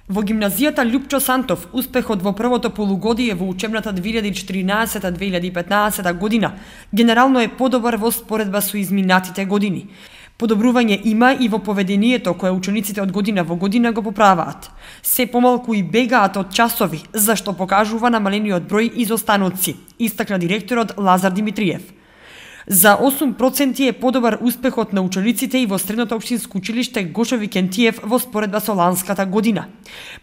Во гимназијата Љупчо Сантов, успехот во првото полугодие во учебната 2014-2015 година генерално е подобар во споредба со изминатите години. Подобрување има и во поведението кое учениците од година во година го поправаат. Се помалку и бегаат од часови, зашто покажува намалениот број изостаноци, истакна директорот Лазар Димитриев. За 8% е подобар успехот на учениците и во Средното општинско училиште Гошо Викентиев во споредба со ланската година.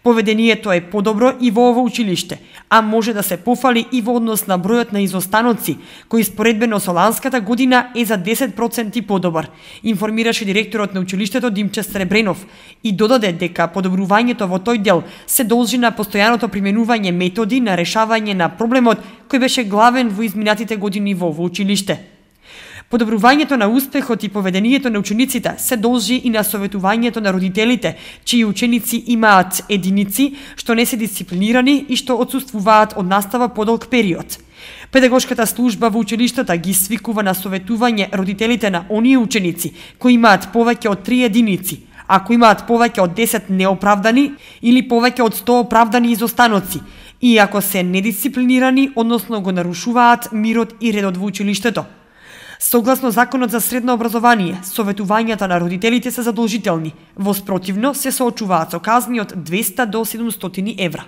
Поведението е подобро и во ово училиште, а може да се пофали и во однос на бројот на изостаноци, кој споредбено со ланската година е за 10% подобар, информираше директорот на училиштето Димче Сребренов и додаде дека подобрувањето во тој дел се должи на постојаното применување методи на решавање на проблемот кој беше главен во изминатите години во ово училиште. Подобрувањето на успехот и поведението на учениците се должи и на советувањето на родителите, чии ученици имаат единици, што не се дисциплинирани и што отсуствуваат од настава подолг период. Педагошката служба во училиштата ги свикува на советување родителите на оние ученици кои имаат повеќе од 3 единици, ако имаат повеќе од 10 неоправдани или повеќе од 100 оправдани изостаноци, и ако се недисциплинирани, односно го нарушуваат мирот и редот во училиштето. Согласно Законот за средно образование, советувањата на родителите се задолжителни, во спротивно се соочуваат со казни од 200 до 700 евра.